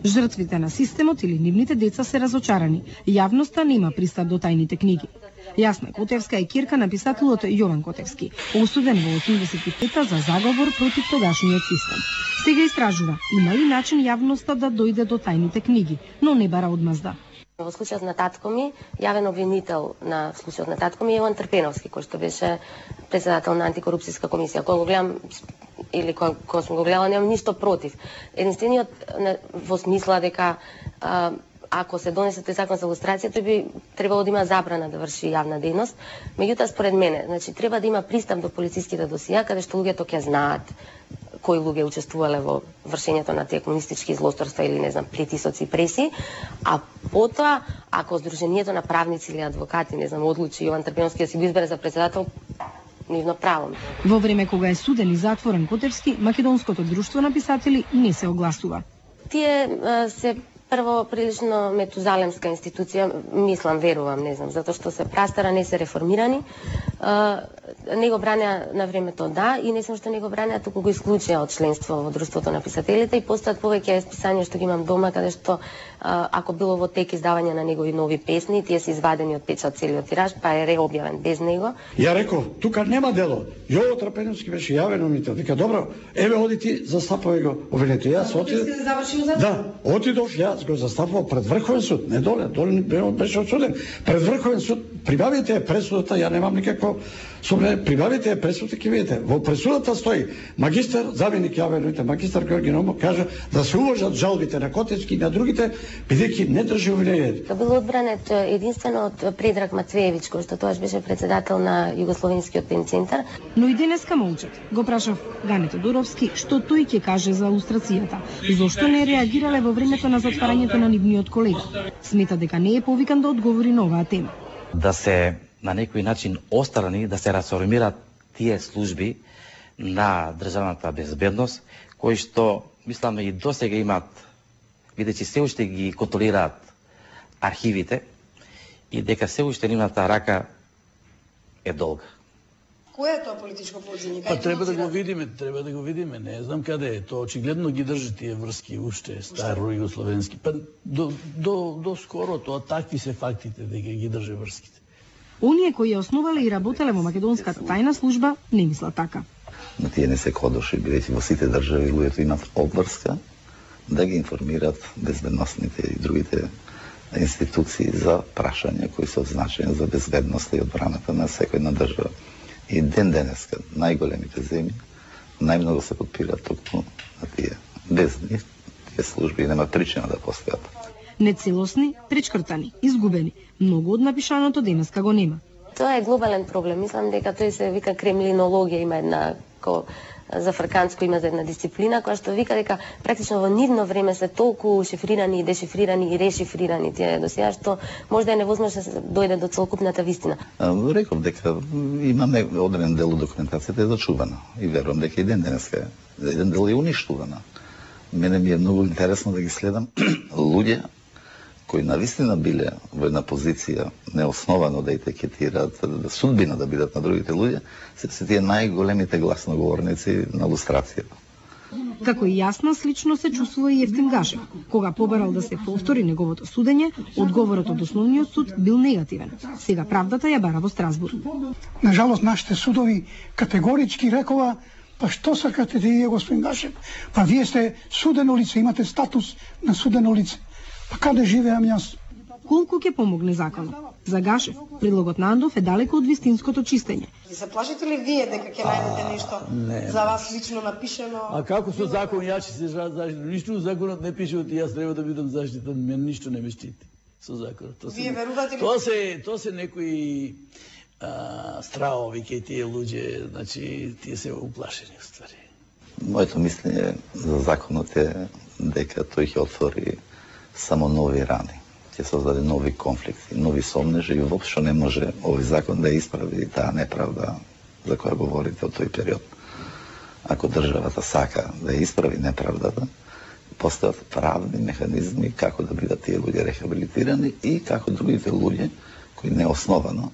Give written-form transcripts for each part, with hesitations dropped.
Жртвите на системот или нивните деца се разочарани. Јавноста нема пристап до тајните книги. Јасна Котевска е ќерка на писателот Јован Котевски, осуден во 85-та за заговор против тогашниот систем. Сега истражува има ли начин јавноста да дојде до тајните книги, но не бара одмазда. Во случајот на татко ми, јавен обвинител на случајот на татко ми е Јован Трпеновски, кој што беше председател на антикорупцијска комисија. Кога го гледам или кога сум го гледала, немам ништо против. Единствениот во смисла дека ако се донесе тој закон за лустрација, тој би требало да има забрана да врши јавна дејност. Меѓутоа, според мене, значи треба да има пристап до полициските досија, каде што луѓето ќе знаат кои луѓе учествувале во вршењето на тие комунистички злосторства или, не знам, притисоци и преси, а потоа, ако Сдруженијето на правници или адвокати, не знам, одлучи Јован Трпеновски да си го избере за председател, нивно право. Во време кога е суден и затворен Котевски, Македонското друштво на писатели не се огласува. Тие се прво прилично метузалемска институција, мислам, верувам, не знам, затоа што се прастара, не се реформирани. Не го бранеа на времето, да, и не само што не го бранеа, туку го исклучија од членство во Друштвото на писателите и постојат повеќе списања што ги имам дома, каде што ако било во тек издавање на негови нови песни, тие се извадени од печат целиот тираж, па е реобјавен без него. Ја реков, тука нема дело. Јово Трпеновски беше јавен обвинител. Вика, добро, еве оди ти застапувај го обвинител. Јас отидов. Да, отидов јас го застапував пред Врховен суд, не доле беше осуден. Пред Врховен суд прибавите пресудата, ја немам никакво сумне, прибавите пресудата, ќе видите. Во пресудата стои магистар, заменик јавен, магистар Георги Номов кажа да се уважат жалбите на Котевски и на другите, бидејќи не држи обвинението. Бил одбранет единствено од Предраг Матвеевич, кој што тоаш беше председател на Југословенскиот пенцентар. Но и денеска молчат. Го прашав Гане Тодоровски што тој ќе каже за лустрацијата. Зошто не реагирале во времето на затварањето на нивниот колега? Смета дека не е повикан да одговори на оваа тема. Да се на некој начин острани, да се расформираат тие служби на државната безбедност, кои што, мислам, и досега имаат, бидејќи се уште ги контролираат архивите и дека се уште нивната рака е долга. Кој е тоа политичко подземје? Па треба да го видиме, не знам каде е. Тоа очигледно ги држи тие врски уште старо југословенски. Па до скоро тоа такви се фактите дека ги држи врските. Оние кои ја основале и работеле во македонската тајна служба не мислат така. Но тие не се кодоши, бидејќи во сите држави луѓето имат обврска да ги информираат безбедносните и другите институции за прашања кои се од значење за безбедноста и одбраната на секојна држава. И денеска најголемите земји најмногу се подпираат токму на тие. Без нив тие служби нема причина да постојат. Нецелосни, пречкртани, изгубени. Многу од напишаното денеска го нема. Тоа е глобален проблем. Мислам дека тој се вика кремлинологија, има една за фрканско има за една дисциплина која што вика дека практично во нивно време се толку шифрирани и дешифрирани и решифрирани тие досија што можда е невозможно да се дојде до целокупната вистина. Реков дека има одреден дел од документацијата е зачувана и верувам дека и денеска еден дел е уништувана. Мене ми е многу интересно да ги следам луѓе кои навистина биле во една позиција неосновано да етикетираат судбина да бидат на другите луѓе, се тие најголемите гласноговорници на лустрацијата. Како и Јасна, слично се чувствува и Евтим Гашев. Кога побарал да се повтори неговото судење, одговорот од основниот суд бил негативен. Сега правдата ја бара во Страсбург. На жалост, нашите судови категорички рекова: па што сакате вие, господин Гашев? Па вие сте судено лице, имате статус на судено лице. Па каде живеам јас? Колку ќе помогне законот? За Гашев, предлогот на Андов е далеко од вистинското чистење. Се плашите ли вие дека ќе најдете нешто за вас лично напишено? А како со закон ја ќе се заштитам? Ништо законот не пише од јас треба да бидам заштитен, мен ништо не ме штити со законот. Вие верувате ли? Тоа се некои стравови кај тие луѓе, значи тие се уплашени уствари. Моето мислење за законот е дека тој ќе отвори само нови рани. Ќе создаде нови конфликти, нови сомнежи и воопшто не може овој закон да исправи таа неправда за која говорите од тој период. Ако државата сака да исправи неправдата, постојат правни механизми како да бидат тие луѓе рехабилитирани и како другите луѓе кои неосновано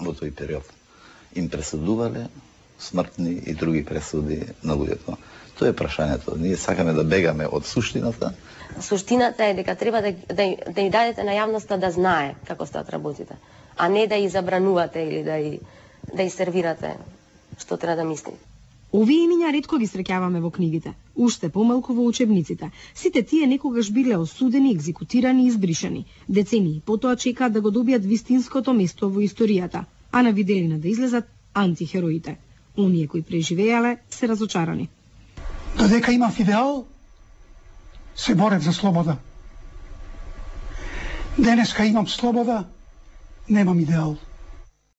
во тој период им пресудувале смртни и други пресуди на луѓето. Тоа е прашањето. Ние сакаме да бегаме од суштината. Суштината е дека треба да ја дадете на јавноста да знае како стаат работите, а не да ја забранувате или да ја сервирате што треба да мисли. Овие имиња ретко ги среќаваме во книгите, уште помалку во учебниците. Сите тие некогаш биле осудени, екзекутирани и избришани. Децении потоа чекаат да го добијат вистинското место во историјата, а на виделина да излезат антихероите. Оние кои преживеале се разочарани. Додека имав идеал, се борев за слобода. Денеска имам слобода, немам идеал.